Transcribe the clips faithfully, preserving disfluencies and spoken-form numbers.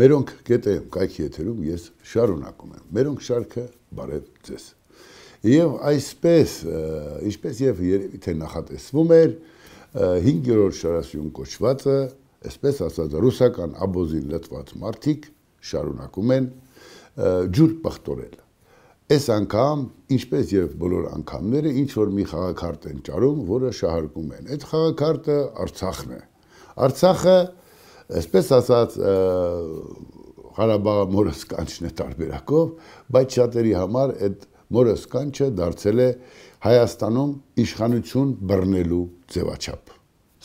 Մերոնք գետեմ կայքի եթերում ես շարունակում եմ, մերոնք շարքը բարև ձեզ։ Եվ այսպես, ինչպես և երևի թե նախատեսվում էր, հինգերորդ շարասյուն կոչվածը, այսպես ասած ռուսական աբոզին լտված մարդիկ շարունակում են ջուր պղտորել։ Այս անգամ, ինչպես և բոլոր անգամները, ինչ-որ մի խաղաքարտ են ճարում, որը շահարկում են։ Այդ խաղաքարտը Արցախն է։ Արցախը, այսպես ասած, Ղարաբաղը մորս կանչն է տարբերակով, բայց շատերի համար այդ մորս կանչը դարձել է Հայաստանում իշխանություն բռնելու ձևաչափ։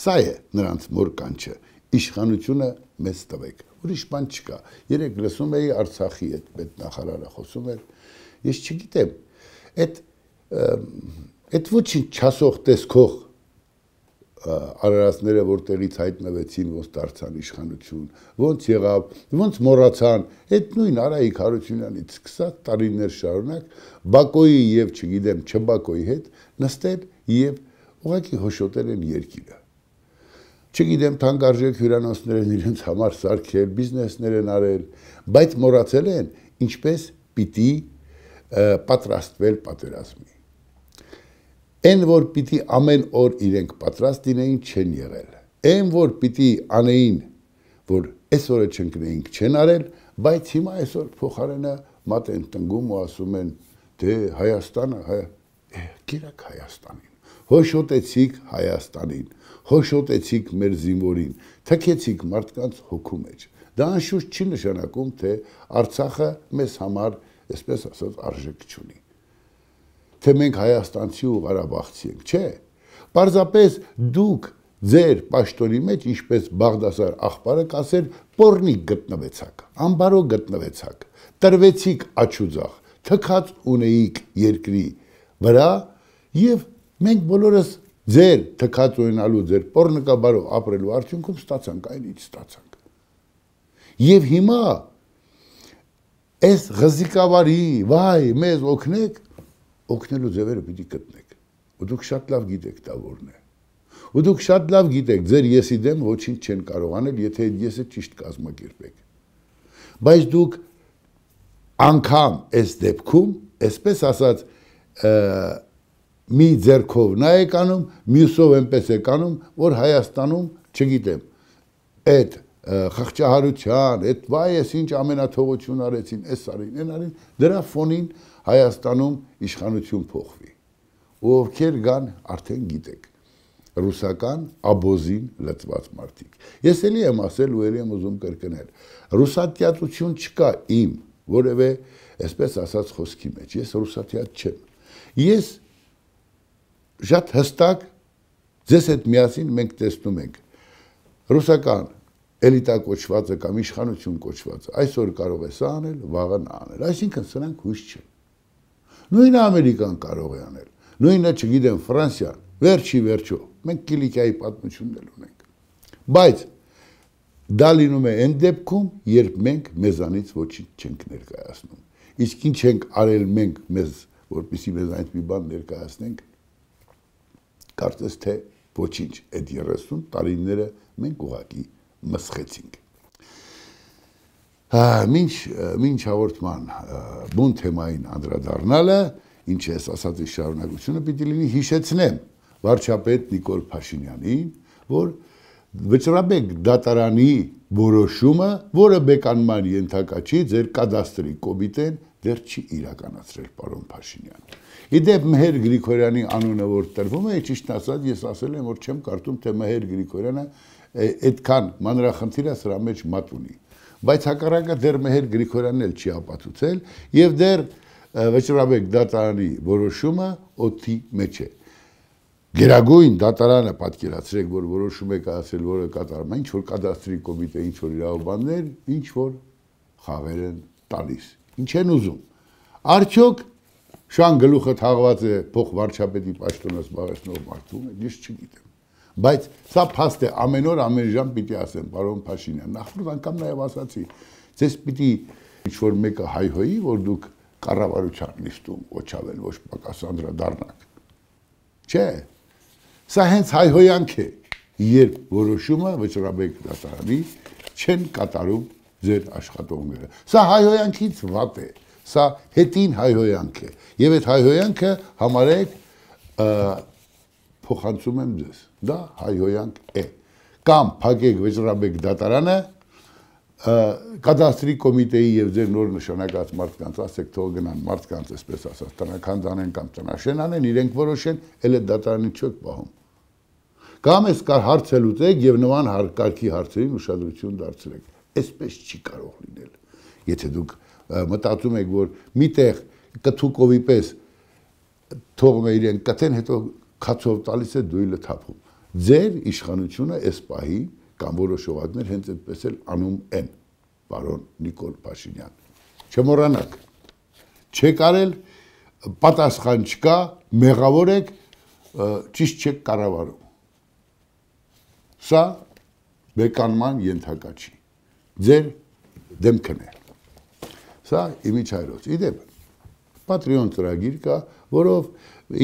Սա է նրանց մոր կանչը, իշխանությունը մեզ տվեք, ուրիշ բան չկա։ Երեկ լսում էի Արցախի այդ պետնախարարը խոսում էր, ես չգիտեմ, այդ այդ ոչինչ չասող տեսքող արարածները, որտեղից հայտնվեցին, ոնց դարձան իշխանություն, ոնց եղավ, ոնց մոռացան, այդ նույն Արայիկ Հարությունյանից սկսած տարիներ շարունակ Բակոյի եւ չգիտեմ Չբակոյի հետ նստել եւ ուղղակի հոշոտել են երկիրը։ Չգիտեմ թանկարժեք հյուրանոցներ են իրենց համար սարքել, բիզնեսներ են արել, բայց մոռացել են ինչպես պիտի պատրաստվել պատերազմի։ Այն, որ պիտի ամեն օր իրենք պատրաստ լինեին, չեն եղել։ Այն, որ պիտի անեին, որ այսօրը չընկնեինք, չեն արել, բայց հիմա այսօր փոխարենը մատ են տնգում ու ասում են, դե Հայաստանը, գիրակ Հայաստանին, հոշոտեցիք Հայաստանին, հոշոտեցիք մեր զինվորին, թքեցիք մարդկանց հոգու մեջ։ Դա անշուշտ չի նշանակում, թե Արցախը մեզ համար, այսպես ասած, արժեք չունի։ Թե մենք հայաստանցի ու ղարաբաղցի ենք, չէ, պարզապես դուք ձեր պաշտոնի մեջ, ինչպես Բաղդասար աղբարը կասեր, պորնիկ գտնվեցաք, ամբարո գտնվեցաք, տրվեցիք աչուձախ, թքած ունեիք երկրի վրա և մենք բոլորս ձեր թքած ունենալու, ձեր պորնկաբարով ապրելու արդյունքում ստացանք այն ինչ ստացանք։ Եվ հիմա այս ղզիկավարի, վայ, մեզ օգնեք, օգնելու ձևերը պիտի գտնեք, ու դուք շատ լավ գիտեք դա որն է, ու դուք շատ լավ գիտեք, ձեր եսի դեմ ոչինչ չեն կարող անել, եթե այդ եսը ճիշտ կազմակերպեք, բայց դուք անգամ այս դեպքում, այսպես ասած, մի ձեռքով նա եք անում, մյուսով այնպես եք անում, որ Հայաստանում, չգիտեմ, այդ խղճահարության, այդ վայ ես ինչ ամենաթողություն արեցին, այս արին, այն արին, դրա ֆոնին Հայաստանում իշխանություն փոխվի, ու ովքեր գան արդեն գիտեք, ռուսական աբոզին լծված մարդիկ։ Ես էլի եմ ասել ու էլի եմ ուզում կրկնել, ռուսատյացություն չկա իմ, որևէ, այսպես ասած խոսքի մեջ, ես ռուսատյաց չեմ, ես շատ հստակ, ձեզ հետ միասին մենք տեսնում ենք, ռուսական էլիտա կոչվածը կամ իշխանություն կոչվածը, այսօր կարող է սա անել, վաղը նա անել, այսինքն սրանք հույս չեն։ Նույնը Ամերիկան կարող է անել, նույնը չգիտեմ Ֆրանսիան, վերջի վերջո, մենք Կիլիկիայի պատմությունն ունենք, բայց դա լինում է այն դեպքում, երբ մենք մեզանից ոչինչ չենք ներկայացնում, իսկ ինչ ենք արել մենք մեզ, որպեսզի մեզանից մի բան ներկայացնենք, կարծես թե ոչինչ, այդ երեսուն տարիները մենք ուղղակի մսխեցինք։ Մինչ հաղորդման բուն թեմային անդրադառնալը, ինչ ես ասածի շարունակությունը պիտի լինի հիշեցնեմ վարչապետ Նիկոլ Փաշինյանին, որ Վճռաբեկ դատարանի որոշումը, որը բեկանման ենթակա չի, ձեր կադաստրի կոմիտեն դեռ չի իրականացրել, պարոն Փաշինյան։ Իդեպ Մհեր Գրիգորյանի անունը որ տրվում է, ճիշտ ասած ես ասել եմ, որ չեմ կարծում, թե Մհեր Գրիգորյանը այդքան մանրախնդիր է սրա մեջ մատ ունի։ Բայց հակառակը դեռ Մհեր Գրիգորյանն էլ չի ապացուցել եւ դեռ Վճռաբեկ դատարանի որոշումը օդի մեջ է։ Գերագույն դատարանը պատկերացրեք, որ որոշում է կայացրել, որը կատարում է, ինչ որ կադաստրի կոմիտե, ինչ որ իրավաբաններ, ինչ որ խաղեր են տալիս։ Ինչ են ուզում։ Արդյոք շան գլուխը թաղված է փոխ վարչապետի պաշտոնը զբաղեցնող մարդու, ես չգիտեմ։ Բայց սա փաստ է, ամեն օր ամեն ժամ պիտի ասեմ, պարոն Փաշինյան, նախորդ անգամ նաև ասացի, ձեզ պիտի ինչ որ մեկը հայհոյի, որ դուք կառավարության նիստում օչավել ոչ պակաս անդրադառնաք։ Չէ։ Սա հենց հայհոյանք է, երբ որոշումը Վճռաբեկ դատարանի չեն կատարում ձեր աշխատողները։ Սա հայհոյանքից վատ է, սա հետին հայհոյանք է, եւ այդ հայհոյանքը համարեք փոխանցում եմ ձեզ, դա հայհոյանք է, կամ փակեք Վեճռաբեկ դատարանը, կադաստրի կոմիտեի եւ ձեր նոր նշանակած մարդկանց ասեք թող գնան մարդկանց այսպես ասած տնական դանեն կամ տնաշեն անեն, իրենք որոշեն, էլ այդ դատարանի չեք պահում։ Կամ ես կար հարց լուծեք եւ նման հարկի հարցերին ուշադրություն դարձրեք։ Այսպես չի կարող լինել։ Եթե դուք մտածում եք, որ միտեղ կթուկովի պես թողում է իրեն կտեն, հետո քացով տալիս է դույլը թափում։ Ձեր իշխանությունը այս պահի կամ որոշ օղակներ հենց այդպես էլ անում են, պարոն Նիկոլ Փաշինյան։ Չմոռանաք, չեք արել, պատասխան չկա, մեղավոր եք, ճիշտ չեք կառավարում։ Սա բեկանման ենթակա չի, ձեր դեմքն է։ Սա իմիջայլոց, իդեպ, Պատրիոն ծրագիր կա, որով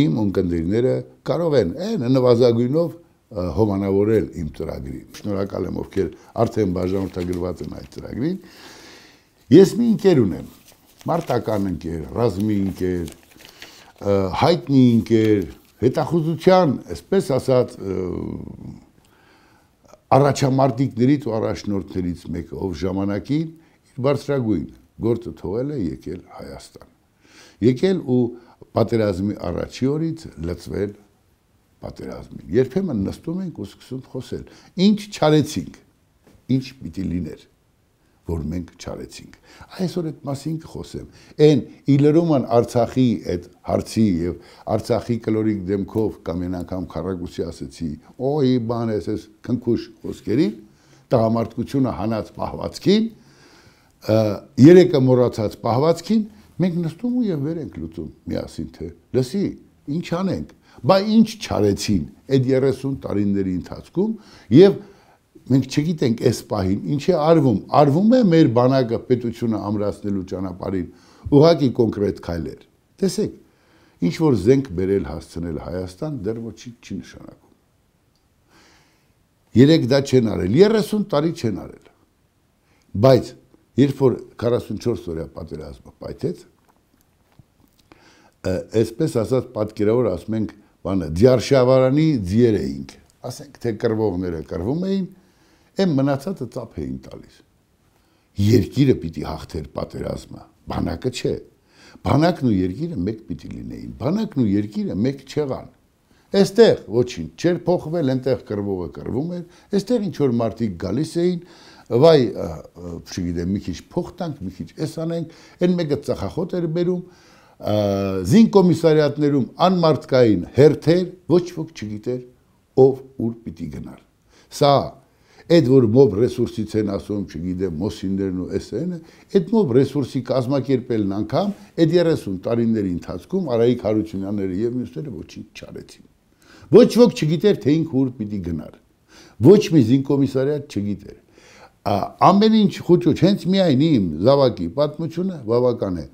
իմ ունկնդիրները կարող են են նվազագույնով հոմանավորել իմ ծրագրին։ Շնորհակալ եմ, ովքեր արդեն բաժանորդագրված են այդ ծրագրին։ Ես մի ընկեր ունեմ, մարտական ընկեր, ռազմի ընկեր, հայտնի ընկեր, հետախուզության, այսպես ասած, առաջամարտիկներից ու առաջնորդներից մեկը, ով ժամանակին իր բարձրագույն գործը թողել է եկել Հայաստան։ Եկել ու պատերազմի առաջի օրից լծվել պատերազմին։ Երբեմն նստում ենք ու սկսում խոսել։ Ինչ չարեցինք, ինչ պիտի լիներ, որ մենք չարեցինք։ Այսօր այդ մասին կխոսեմ։ Այն իլրոման Արցախի այդ հարցի եւ Արցախի կլորիկ դեմքով կամ այն անգամ քառակուսի ասեցի, օй բան էս էս քնքուշ խոսքերին, տղամարդկությունը հանած պահվածքին, երեկը մոռացած պահվածքին, մենք նստում ու եւ վեր ենք լուծում միասին թե լսի, ինչ անենք, բա ինչ չարեցին այդ երեսուն տարիների ընթացքում եւ մենք չգիտենք այս պահին ինչ է արվում, արվում է մեր բանակը պետությունը ամրացնելու ճանապարհին ուղղակի կոնկրետ քայլեր։ Տեսեք, ինչ որ զենք բերել հասցնել Հայաստան դեռ ոչինչ չի նշանակում։ Երեք դա չեն արել, երեսուն տարի չեն արել։ Բայց երբ որ քառասունչորս օրյա պատերազմը պայթեց, այսպես ասած պատկերավոր ասում ենք, բանը ձիարշավարանի ձիեր էինք, ասենք թե կռվողները կռվում էին, այն մնացածը ծափ էին տալիս։ Երկիրը պիտի հաղթեր պատերազմը, բանակը չէ։ Բանակն ու երկիրը մեկ պիտի լինեին, բանակն ու երկիրը մեկ չեղան։ Այստեղ ոչինչ չէր փոխվել, այնտեղ կռվողը կռվում էր, այստեղ ինչ որ մարդիկ գալիս էին, վայ, չգիտեմ, մի քիչ փող տանք, մի քիչ էս անենք, այն մեկը ծախախոտ էր բերում, զինկոմիսարիատներում անմարդկային հերթեր, ոչ ոք չգիտեր, ով ուր պիտի գնար։ Սա, այդ որ մոբ ռեսուրսից են ասում, չգիտեմ, մոսիններն ու էսենը, այդ մոբ ռեսուրսի կազմակերպելն անգամ, այդ երեսուն տարիների ընթացքում Արայիկ Հարությունյանները եւ մյուսները ոչինչ չարեցին։ Ոչ ոք չգիտեր, թե ինքը ուր պիտի գնար։ Ոչ մի զինկոմիսարիատ չգիտեր։ Ամեն ինչ խուճուճ, հենց միայն իմ զավակի պատմությունը բավական է։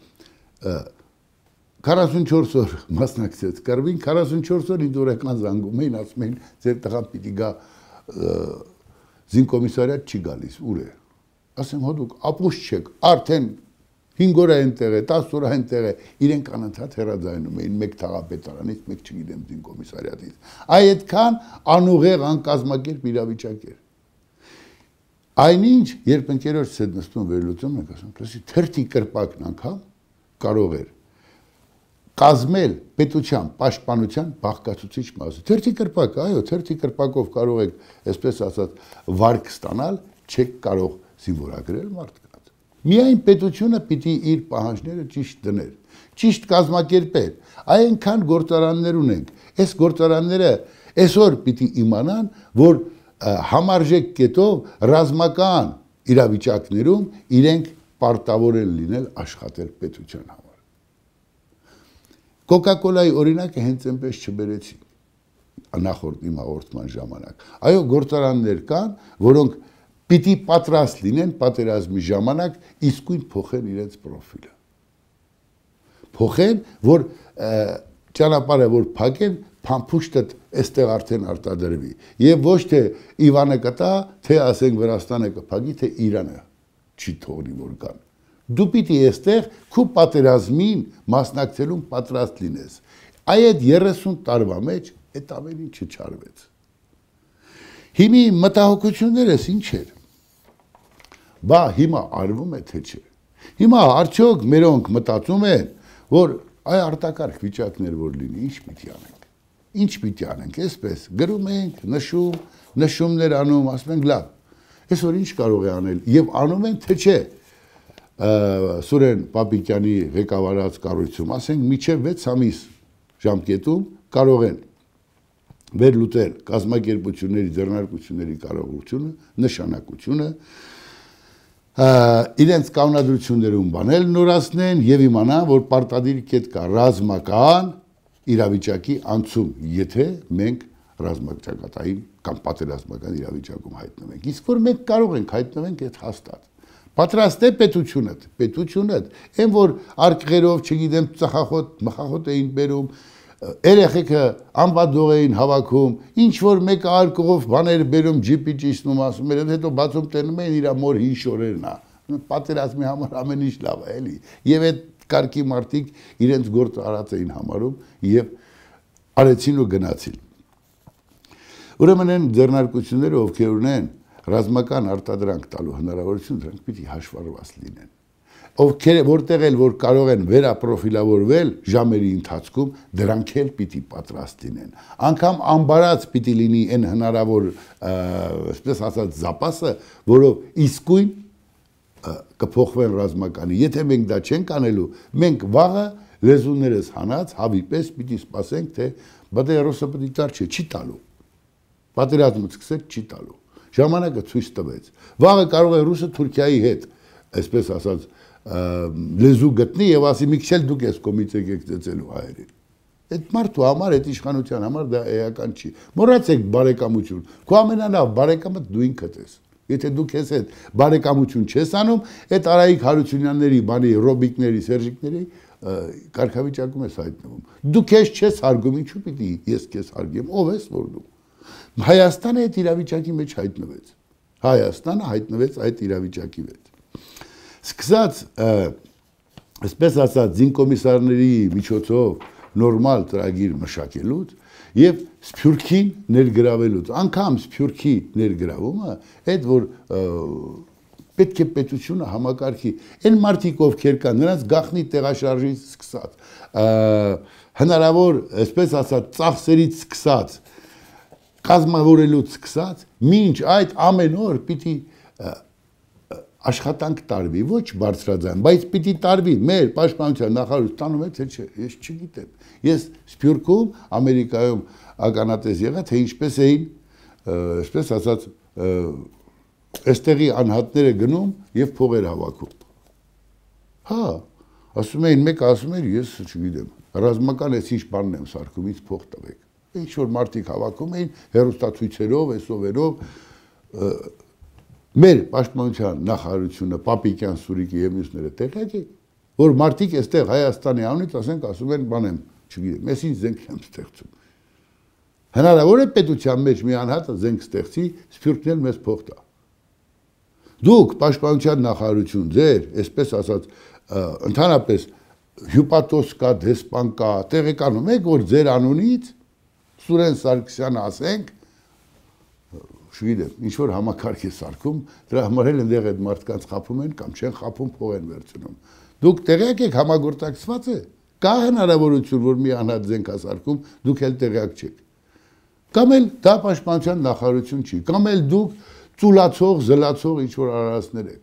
քառասունչորս օր մասնակցեց կռվին, քառասունչորս օր ինձ օրական զանգում էին, ասում էին, ձեր տղան պիտի գա զինկոմիսարիատ չի գալիս, ուր է։ Ասեմ, հո դուք ապուշ չեք, արդեն հինգ օր այնտեղ է, տասը օր այնտեղ է, իրենք անընդհատ հեռաձայնում էին մեկ թաղապետարանից, մեկ չգիտեմ զինկոմիսարիատից։ Այ այդքան անուղեղ անկազմակերպ իրավիճակ էր։ Այնինչ, երբ ընկերոջս հետ նստում վերլուծում ենք, ասում, լսի, թերթի կրպակն անգամ կարող էր կազմել պետության պաշտպանության բաղկացուցիչ մասը։ Թերթի կրպակը, այո, թերթի կրպակով կարող եք, այսպես ասած, վարկ ստանալ, չեք կարող զինվորագրել մարդկանց։ Միայն պետությունը պիտի իր պահանջները ճիշտ դներ, ճիշտ կազմակերպեր։ Այնքան գործարաններ ունենք։ Այս գործարանները այսօր պիտի իմանան, որ համարժեք կետով ռազմական իրավիճակներում իրենք պարտավոր են լինել աշխատել պետության համար։ Կոկա-կոլայի օրինակը հենց այնպես չբերեցի նախորդ իմ հաղորդման ժամանակ։ Այո, գործարաններ կան, որոնք պիտի պատրաստ լինեն պատերազմի ժամանակ իսկույն փոխեն իրենց պրոֆիլը։ Փոխեն, որ ճանապարհը որ փակեն, փամփուշտը այստեղ արդեն արտադրվի։ Եվ ոչ թե Իվանը կտա, թե ասենք Վրաստանը կփակի, թե Իրանը չի թողնի որ կան։ Դու պիտի այստեղ քու պատերազմին մասնակցելուն պատրաստ լինես։ Այդ երեսուն տարվա մեջ այդ ամեն ինչը չարվեց։ Հիմի մտահոգություններս ինչ էր։ Բա հիմա արվում է թե չէ։ Հիմա արդյոք մերոնք մտածում են, որ այ արտակարգ վիճակներ որ լինի, ինչ պիտի անենք։ Ինչ պիտի անենք, այսպես գրում ենք, նշում, նշումներ անում, ասում ենք լավ։ Այսօր ինչ կարող է անել եւ անում են թե չէ։ Սուրեն Պապիկյանի ղեկավարած կառույցում, ասենք միջև վեց ամիս ժամկետում կարող են վերլուծել կազմակերպությունների, ձեռնարկությունների կարողությունը, նշանակությունը, իրենց կանոնադրություններում բանել նորացնեն եւ իմանան, որ պարտադիր կետ կա ռազմական իրավիճակի անցում, եթե մենք ռազմաճակատային կամ պատերազմական իրավիճակում հայտնվենք։ Իսկ որ մենք կարող ենք հայտնվենք այդ հաստատ։ Պատրաստ է պետությունը, պետությունը, այն որ արկղերով, չգիտեմ, ծխախոտ, մխախոտ էին բերում, երեխեքը անվադող էին հավաքում, ինչ որ մեկը արկղով բաներ բերում, ջիպի ճիշտնում, ասում էր, հետո բացում տենում էին իր մոր հին շորերն է։ Պատերազմի համար ամեն ինչ լավ է, էլի։ Եվ այդ կարգի մարդիկ իրենց գործը արած էին համարում եւ արեցին ու գնացին։ Ուրեմն այն ձեռնարկությունները, ովքեր ունեն ռազմական արտադրանք տալու հնարավորություն, դրանք պիտի հաշվառված լինեն։ Ովքեր որտեղ էլ որ կարող են վերապրոֆիլավորվել ժամերի ընթացքում, դրանք էլ պիտի պատրաստ լինեն։ Անկամ ամբարած պիտի լինի այն հնարավոր, այսպես ասած, զապասը, որով իսկույն կփոխվեն ռազմականի։ Եթե մենք դա չենք անելու, մենք վաղը լեզուներս հանած հավի պես պիտի սպասենք, թե բադե ռուսը պիտի տար չէ, չի տալու։ Պատերազմը սկսել չի տալու։ Ժամանակը ցույց տվեց։ Վաղը կարող է ռուսը Թուրքիայի հետ, այսպես ասած, լեզու գտնի եւ ասի մի քիչ էլ դուք ես կոմից եկեք ծեծելու հայերին։ Այդ մարդու համար, այդ իշխանության համար դա էական չի։ Մոռացեք բարեկամություն։ Քո ամենալավ բարեկամը դու ինքդ ես։ Եթե դու քեզ հետ բարեկամություն չես անում, այդ Արայիկ Հարությունյանների, բանի Ռոբիկների, Սերժիկների կարգավիճակում ես հայտնվում։ Դու քեզ չես հարգում, ինչու պիտի ես քեզ հարգեմ, ով ես որ դու։ Հայաստանը այդ իրավիճակի մեջ հայտնվեց։ Հայաստանը հայտնվեց այդ իրավիճակի մեջ։ Սկսած, այսպես ասած, զինկոմիսարների միջոցով նորմալ ծրագիր մշակելուց եւ Սփյուռքին ներգրավելուց, անգամ Սփյուռքի ներգրավումը, այդ որ պետք է պետությունը համակարգի, այն մարդիկ ովքեր կան, նրանց գաղտնի տեղաշարժից սկսած, հնարավոր, այսպես ասած, ծախսերից սկսած, կազմավորելուց սկսած, մինչ այդ ամեն օր պիտի աշխատանք տարվի, ոչ բարձրաձայն, բայց պիտի տարվի, մեր պաշտպանության նախարարությունը տանում է, թե չէ, ես չգիտեմ։ Ես Սփյուռքում, Ամերիկայում ականատես եղա, թե ինչպես էին, այսպես ասած, այստեղի անհատները գնում եւ փողեր հավաքում։ Հա, ասում էին, մեկը ասում էր, ես չգիտեմ, ռազմական էս ինչ բանն եմ սարքում, ինձ փող տվեք։ Ինչ որ մարդիկ հավաքում էին հերոստացույցերով, այսովերով, մեր պաշտպանության նախարարությունը, Պապիկյան, Սուրիկի եւ մյուսները տեղյակ եք, որ մարդիկ այստեղ Հայաստանի անունից ասենք ասում են բան եմ, չգիտեմ, ես ինչ զենք եմ ստեղծում։ Հնարավոր է պետության մեջ մի անհատը զենք ստեղծի, Սփյուռքն էլ մեզ փող տա։ Դուք պաշտպանության նախարարություն ձեր, այսպես ասած, ընդհանրապես հյուպատոս կա, դեսպան կա, տեղեկանում եք, որ ձեր անունից Սուրեն Սարգսյանը ասենք, չգիտեմ, ինչ որ համակարգ է սարքում, դրա համար էլ այնտեղ այդ մարդկանց խափում են կամ չեն խափում, փող են վերցնում։ Դուք տեղյակ եք համագործակցված է, կա հնարավորություն, որ մի անհատ զենք ասարկում, դուք էլ տեղյակ չեք։ Կամ էլ դա պաշտպանության նախարարություն չի, կամ էլ դուք ծուլացող, զլացող ինչ որ արարածներ եք։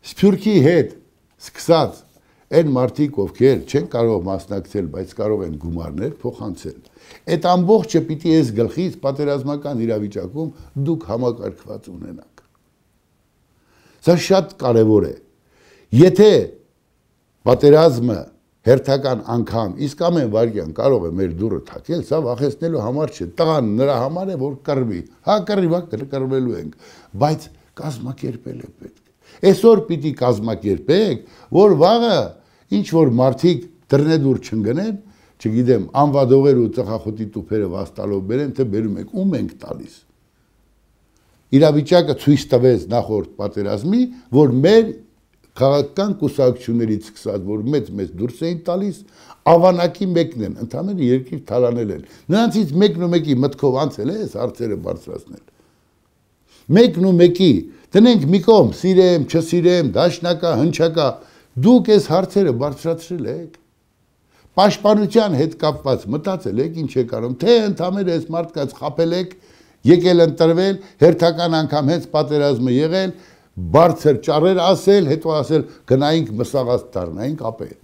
Սփյուռքի հետ սկսած այն մարդիկ, ովքեր չեն կարող մասնակցել, բայց կարող են գումարներ փոխանցել։ Այդ ամբողջը պիտի ես գլխից պատերազմական իրավիճակում դուք համակարգված ունենաք։ Սա շատ կարևոր է։ Եթե պատերազմը հերթական անգամ իսկ ամեն վարքյան կարող է մեր դուրը թակել, սա վախեցնելու համար չէ։ Տղան նրա համար է, որ կռվի։ Հա կռվի, հա կռվելու ենք, բայց կազմակերպել է պետք։ Այսօր պիտի կազմակերպեք, որ վաղը ինչ որ մարդիկ դռնեդուր չընկնեն, չգիտեմ, անվադողեր ու ծխախոտի տուփերը վաստալով բերեն, թե բերում եք, ում ենք տալիս։ իրավիճակը ցույց տվեց նախորդ պատերազմի, որ մեր քաղաքական կուսակցություններից սկսած, որ մեծ-մեծ դուրս էին տալիս, ավանակի մեկն են, ընդհանրապես երկիր թալանել են։ Նրանցից մեկն ու մեկի մտքով անցել է այս հարցերը բարձրացնել։ Մեկն ու մեկի, տնենք մի կողմ, սիրեմ, չսիրեմ, դաշնակա, հնչակա, դուք այս հարցերը բարձրացրել եք։ Պաշտպանության հետ կապված մտածել եք ինչ եք անում, թե ընդհանրապես այս մարդկանց խաբել եք, եկել ընտրվել, հերթական անգամ հենց պատերազմը եղել, բարձր ճառեր ասել, հետո ասել գնայինք մսաղած դառնայինք ապել։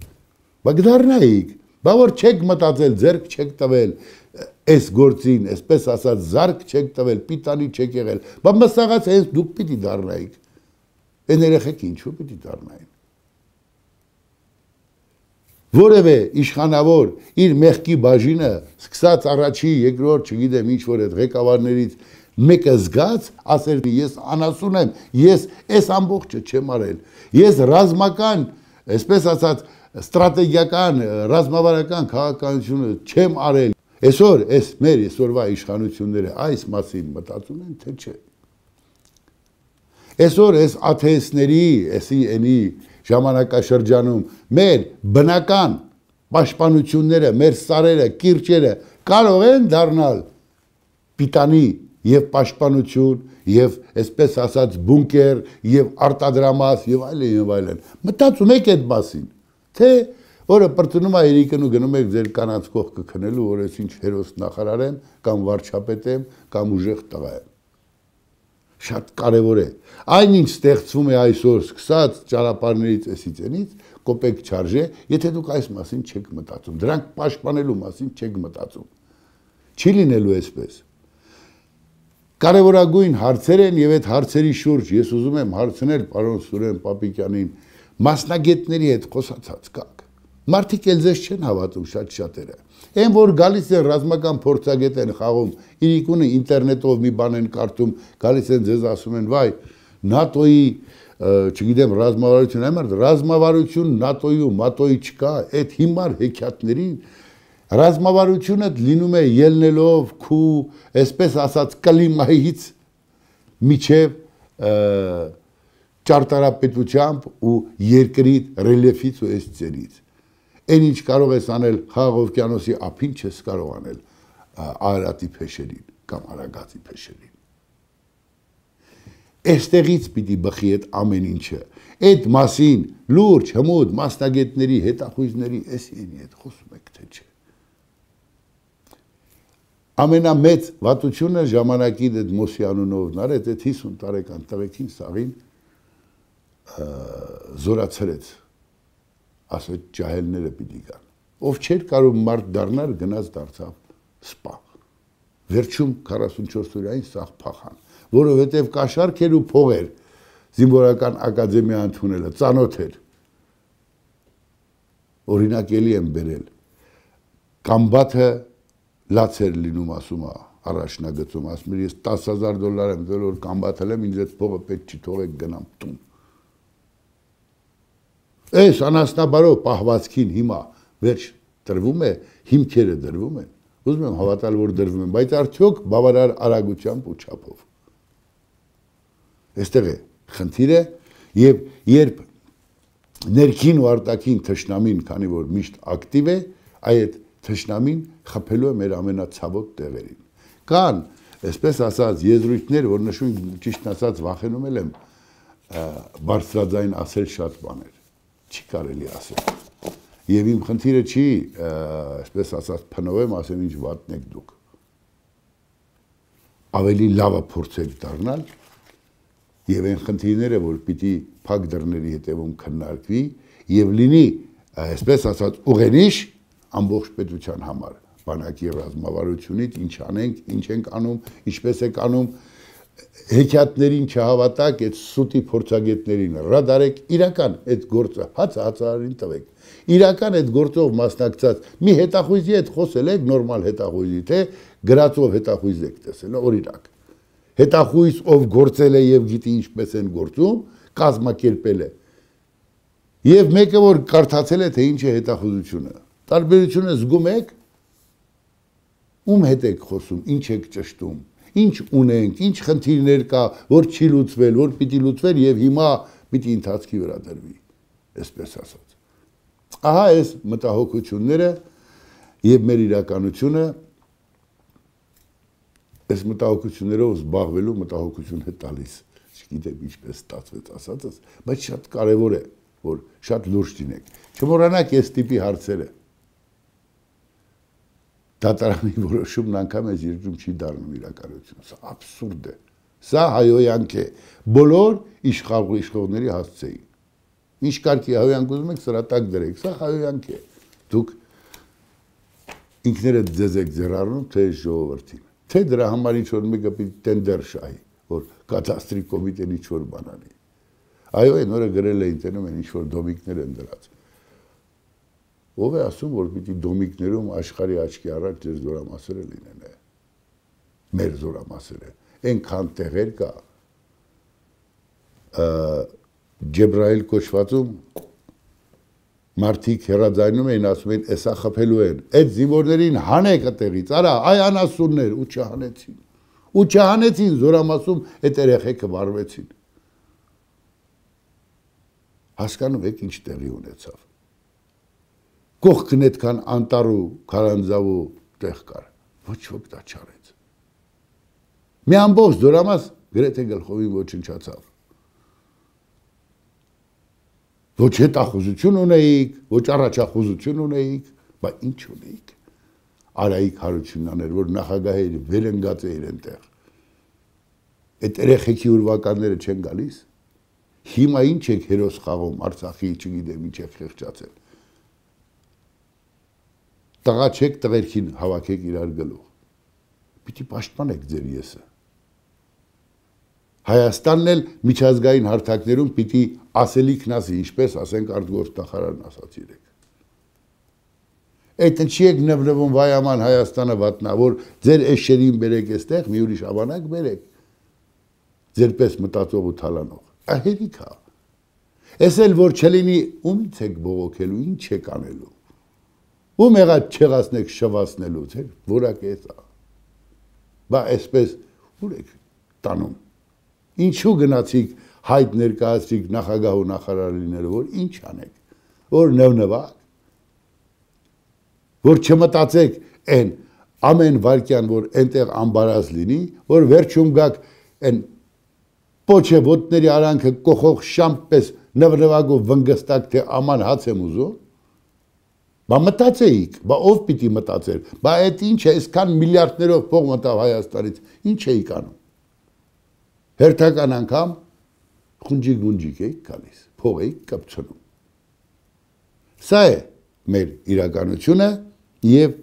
Բայց դառնայինք, բա որ չեք մտածել, ձեռք չեք տվել այս գործին, այսպես ասած զարկ չեք տվել, պիտանի չեք եղել, բա մսաղած հենց դուք պիտի դառնայիք։ Այն երեխեք ինչու պիտի դառնային։ Որևէ իշխանավոր իր մեղքի բաժինը սկսած առաջի, երկրորդ, չգիտեմ ինչ որ այդ ղեկավարներից մեկը զգաց, ասել ես անասուն եմ, ես այս ամբողջը չեմ արել, ես ռազմական, այսպես ասած, ստրատեգիական, ռազմավարական քաղաքականությունը չեմ արել։ Այսօր այս մեր այսօրվա իշխանությունները այս մասին մտածում են, թե չէ։ Այսօր այս աթեիստների, էսի էնի ժամանակաշրջանում մեր բնական պաշտպանությունները, մեր սարերը, կիրճերը կարող են դառնալ պիտանի եւ պաշտպանություն եւ այսպես ասած բունկեր եւ արտադրամաս եւ այլն եւ այլն։ Մտածում եք այդ մասին, թե որը պրծնում է երիկն ու գնում եք ձեր կանանց կողքը քնելու, որ ես ինչ հերոս նախարար եմ կամ վարչապետ եմ կամ ուժեղ տղա եմ։ Շատ կարևոր է։ Այնինչ ստեղծվում է այսօր սկսած ճանապարհներից էսիցենից, կոպեկ չարժե, եթե դուք այս մասին չեք մտածում, դրանք պաշտպանելու մասին չեք մտածում։ Չի լինելու այսպես։ Կարևորագույն հարցեր են եւ այդ հարցերի շուրջ ես ուզում եմ հարցնել պարոն Սուրեն Պապիկյանին, մասնագետների հետ խոսացած կաք։ Մարդիկ էլ ձեզ չեն հավատում շատ շատերը։ Այն որ գալիս են ռազմական փորձագետ են խաղում, իրիկունը ինտերնետով մի բան են կարդում, գալիս են ձեզ ասում են, վայ, ՆԱՏՕ-ի, չգիտեմ, ռազմավարություն, այմար, ռազմավարություն ՆԱՏՕ-ի ու ՄԱՏՕ-ի չկա, այդ հիմար հեքիաթներին ռազմավարությունը լինում է ելնելով քու, այսպես ասած, կլիմայից միջև ճարտարապետությամբ ու երկրի ռելիեֆից ու այս ծերից։ Այն ինչ կարող ես անել Խաղաղ օվկիանոսի ափին, չես կարող անել Արարատի փեշերին կամ Արագածի փեշերին։ Այստեղից պիտի բխի այդ ամեն ինչը։ Այդ մասին լուրջ, հմուտ մասնագետների, հետախույզների էսի հետ խոսում եք, թե չէ։ Ամենամեծ վատությունը ժամանակի այդ Մոսի անունով նարեց, այդ հիսուն տարեկան տղեկին սաղին զորացրեց, ասոց ջահելները պիտի գան։ Ով չէր կարող մարդ դառնալ, գնաց դարձավ սպա։ Վերջում քառասունչորս օրային սաղ փախան, որովհետև կաշառք էր ու փող էր զինվորական ակադեմիա ընդունելը, ծանոթ էր։ Օրինակ էլի եմ բերել։ Կամբաթը լաց էր լինում, ասում է, առաջնագծում, ասում էր, ես տասը հազար դոլար եմ դել, որ կամբաթել եմ, ինձ այդ փողը պետք չի թողեք գնամ տուն։ Այս անասնաբարով պահվածքին հիմա վերջ դրվում է, հիմքերը դրվում են, ուզում եմ հավատալ, որ դրվում են, բայց արդյոք բավարար արագությամբ ու չափով։ Այստեղ է խնդիրը եւ երբ ներքին ու արտաքին թշնամին, քանի որ միշտ ակտիվ է, այդ թշնամին խփելու է մեր ամենացավոտ տեղերին։ Կան, այսպես ասած, եզրույթներ, որ նշում ճիշտ ասած վախենում եմ բարձրաձայն ասել շատ բաներ։ Չի կարելի ասել։ Եվ իմ խնդիրը չի, այսպես ասած, փնովեմ, ասեմ ինչ վատն եք դուք։ Ավելի լավը փորձեք դառնալ եւ այն խնդիրները, որ պիտի փակ դռների հետևում քննարկվի եւ լինի, այսպես ասած, ուղենիշ ամբողջ պետության համար, բանակի ռազմավարությունից ինչ անենք, ինչ ենք անում, ինչպես ենք անում, հեքիաթներին չհավատակ, այդ սուտի փորձագետներին ռադարեք, իրական այդ գործը հաց հացարին տվեք։ Իրական այդ գործով մասնակցած մի հետախույզի հետ խոսել եք, նորմալ հետախույզի, թե գրածով հետախույզ եք տեսել, օրինակ։ Հետախույզ, ով գործել է եւ գիտի ինչպես են գործում, կազմակերպել է։ Եվ մեկը որ կարդացել է, թե ինչ է հետախուզությունը։ Տարբերությունը զգում եք, ում հետ եք խոսում, ինչ եք ճշտում, ինչ ունենք, ինչ խնդիրներ կա, որ չի լուծվել, որ պիտի լուծվել եւ հիմա պիտի ընթացքի վրա դրվի, այսպես ասած։ Ահա այս մտահոգությունները եւ մեր իրականությունը այս մտահոգություններով զբաղվելու մտահոգություն է տալիս։ Չգիտեմ ինչպես ստացվեց ասածս, բայց շատ կարեւոր է, որ շատ լուրջ լինենք։ Չմոռանաք այս տիպի հարցերը։ Դատարանի որոշումն անգամ այս երկրում չի դառնում իրականություն։ Սա աբսուրդ է։ Սա հայոյանք է։ Բոլոր իշխողների հասցեին։ Ինչ կարգի հայոյանք ուզում եք սրատակ դրեք, սա հայոյանք է։ Դուք ինքներդ ձեզ եք ձեռառնում թե ժողովրդին։ Թե դրա համար ինչ-որ մեկը պիտի տենդեր շահի, որ կադաստրի կոմիտեն ինչ-որ բան անի։ Այո, այն օրը գրել էին տենում են ինչ-որ դոմիկներ են դրած։ Ով է ասում, որ պիտի դոմիկներում աշխարհի աչքի առաջ ձեր զորամասերը լինեն։ Մեր զորամասերը։ Այնքան տեղեր կա Ջեբրայել կոչվածում մարդիկ հերաձայնում էին, ասում էին, «Էսա խփելու են, այդ զինվորներին հանեք այդտեղից, արա, այ անասուններ» ու չհանեցին։ Ու չհանեցին, զորամասում այդ երեխեքը վարվեցին։ Հասկանում եք ինչ տեղի ունեցավ։ Կողքն այդքան անտառ ու քարանձավ ու տեղ կար։ Ոչ ոք դա չարեց։ Մի ամբողջ զորամաս գրեթե գլխովին ոչնչացավ։ Ոչ հետախուզություն ունեիք, ոչ առաջախուզություն ունեիք, բայց ինչ ունեիք։ Արայիկ Հարությունյանն էր, որ նախագահը վերընկած էր այնտեղ։ Այդ երեխեքի ուրվականները չեն գալիս։ Հիմա ինչ եք հերոս խաղում, Արցախի, չգիտեմ, ինչ եք խեղճացել։ Տղա չեք, տղերքին հավաքեք իրար գլուխ։ Պիտի պաշտպանեք ձեր եսը։ Հայաստանն էլ միջազգային հարթակներում պիտի ասելիքն ասի, ինչպես ասենք արտգործնախարարն ասաց իրեք։ Այդ ինչի եք նվնվում վայ աման Հայաստանը վատնա, որ ձեր էշերին բերեք այստեղ, մի ուրիշ ավանակ բերեք։ Ձերպես մտածող ու թալանող։ Ահերիք է։ Էս էլ որ չլինի, ումից եք բողոքելու, ինչ եք անելու։ Ում եղած չեղացնեք շվացնելու, ձեր որակ է սա։ Բա այսպես ուր եք տանում։ Ինչու գնացիք հայտ ներկայացրիք նախագահ ու նախարար լինելու, որ ինչ անեք, որ նվնվակ, որ չմտածեք այն ամեն վարկյան, որ այնտեղ ամբարած լինի, որ վերջում գաք այն պոչե ոտների արանքը կողող շամպես նվնվակ ու վնգստակ, թե աման հաց եմ ուզում, բա մտածեիք, բա ով պիտի մտածեր, բա այդ ինչ է, այսքան միլիարդներով փող մտավ Հայաստանից, ինչ էիք անում։ Հերթական անգամ խունջիկ-գունջիկ էիք գալիս, փող էիք կպցնում։ Սա է մեր իրականությունը եւ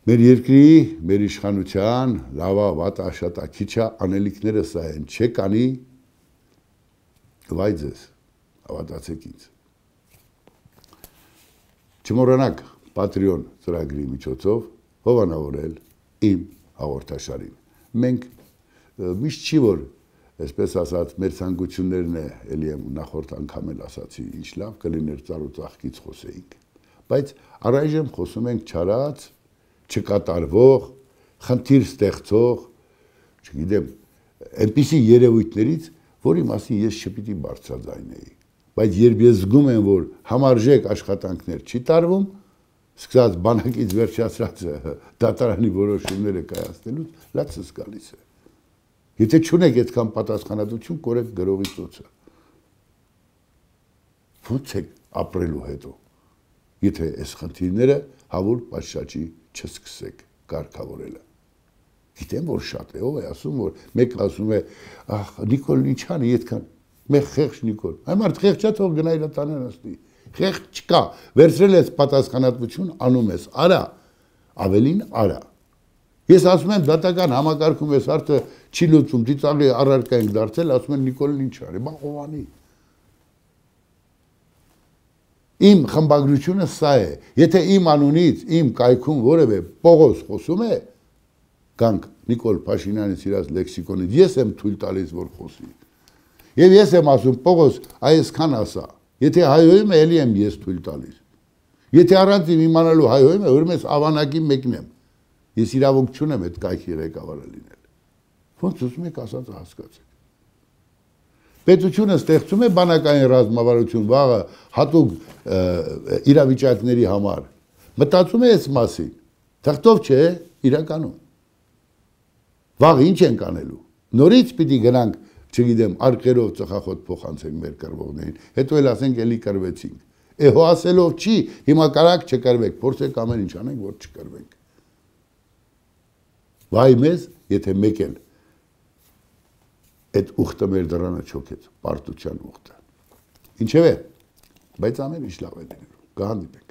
մեր երկրի, մեր իշխանության, լավա, վատա, աշատա, քիչա անելիքները սա են, չեք անի, վայ ձեզ, հավատացեք ինձ։ Չմոռանաք Patreon ծրագրի միջոցով հովանավորել իմ հաղորդաշարին։ Մենք միշտ չի որ, այսպես ասած, մեր ցանկություններն է, էլի եմ նախորդ անգամ էլ ասացի, ինչ լավ կլիներ ծառ ու ծաղկից խոսեինք, բայց առայժմ խոսում ենք չարած, չկատարվող, խնդիր ստեղծող, չգիտեմ, այնպիսի երևույթներից, որի մասին ես չպիտի բարձրաձայնեի, բայց երբ ես զգում եմ, որ համարժեք աշխատանքներ չի տարվում, սկսած բանակից վերջացրած դատարանի որոշումները կայացնելուց, լացս գալիս է։ Եթե չունեք այդքան պատասխանատվություն, կորեք գրողի ծոցը։ Ո՞նց եք ապրելու հետո, եթե այս խնդիրները հավուր պատշաճի չսկսեք կարգավորելը։ Գիտեմ, որ շատ է, ով է ասում, որ մեկ ասում է, ախ, Նիկոլն ինչ անի, այդքան, մեկ խեղճ Նիկոլ։ Այ մարդ խեղճա թող գնա իր տանը նստի։ Խեղճ չկա, վերցրել ես պատասխանատվություն, անում ես, արա, ավելին արա։ Ես ասում եմ դատական համակարգում ես արդը չի լուծում, ծիծաղի առարկա ենք դարձել, ասում են Նիկոլն ինչ արի, բա ով անի։ Իմ խմբագրությունը սա է, եթե իմ անունից, իմ կայքում որևէ Պողոս խոսում է, կանք Նիկոլ Փաշինյանի սիրած լեքսիկոնից, ես եմ թույլ տալիս, որ խոսի։ Եվ ես եմ ասում, Պողոս, այսքան ասա, եթե հայոյում է, էլի եմ ես թույլ տալիս։ Եթե առանց իմ իմանալու հայոյում է, ուրեմն ես ավանակի մեկն եմ։ Ես իրավունք չունեմ այդ կայքի ղեկավարը լինել։ Ոնց ուզում եք ասածը հասկացեք։ Պետությունը ստեղծում է բանակային ռազմավարություն վաղը հատուկ իրավիճակների համար։ Մտածում է այս մասին։ Թղթով չէ, իրականում։ Վաղ ինչ ենք անելու։ Նորից պիտի գնանք, չգիտեմ, արկերով ծխախոտ փոխանցենք մեր կռվողներին, հետո էլ ասենք էլի կռվեցինք։ Է հո ասելով չի, հիմա կարակ չկռվեք, փորձեք ամեն ինչ անենք, որ չկռվենք։ Վայ մեզ, եթե մեկ էլ այդ ուխտը մեր դռանը չոքեց, պարտության ուխտը։ Ինչևէ, բայց ամեն ինչ լավ է լինելու։ Կհանդիպենք։